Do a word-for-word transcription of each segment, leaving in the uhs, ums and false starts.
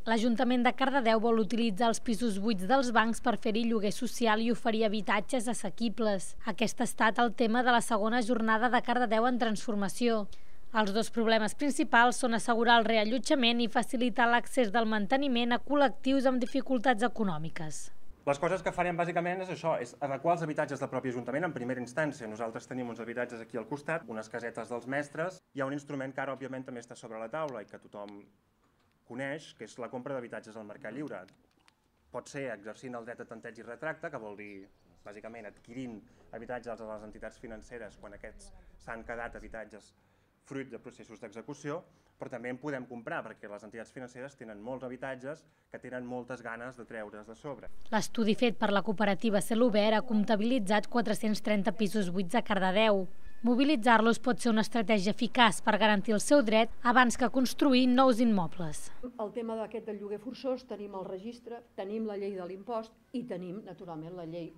L'Ajuntament de Cardedeu vol utilitzar els pisos buits dels bancs per fer-hi lloguer social i oferir habitatges assequibles. Aquest ha estat el tema de la segona jornada de Cardedeu en transformació. Els dos problemes principals són assegurar el reallotjament i facilitar l'accés del manteniment a col·lectius amb dificultats econòmiques. Les coses que farem bàsicament és això, és adequar els habitatges del propi Ajuntament en primera instància. Nosaltres tenim uns habitatges aquí al costat, unes casetes dels mestres. Hi ha un instrument que ara, òbviament, també està sobre la taula i que tothom coneix, que és la compra d'habitatges al mercat lliure. Pot ser exercint el dret a tanteig i retracte, que vol dir, bàsicament, adquirint habitatges a les entitats financeres quan aquests s'han quedat habitatges fruit de processos d'execució, però també en podem comprar, perquè les entitats financeres tenen molts habitatges que tenen moltes ganes de treure's de sobre. L'estudi fet per la cooperativa Celobert ha comptabilitzat quatre-cents trenta pisos buits a Cardedeu. Mobilitzar-los pot ser una estratègia eficaç per garantir el seu dret abans que construir nous immobles. El tema d'aquest del lloguer forçós, tenim el registre, tenim la llei de l'impost i tenim, naturalment, la llei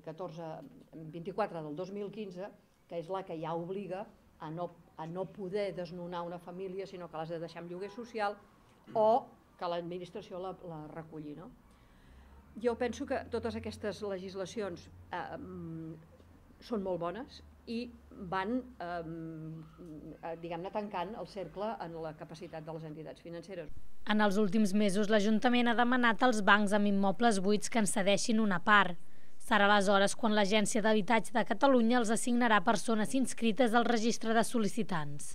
catorze vint-i-quatre del dos mil quinze, que és la que ja obliga a no, a no poder desnonar una família, sinó que l'has de deixar en lloguer social o que l'administració la, la reculli. No? Jo penso que totes aquestes legislacions eh, són molt bones i van eh, diguem-ne tancant el cercle en la capacitat de les entitats financeres. En els últims mesos l'Ajuntament ha demanat als bancs amb immobles buits que en cedeixin una part. Serà aleshores quan l'Agència d'Habitatge de Catalunya els assignarà persones inscrites al registre de sol·licitants.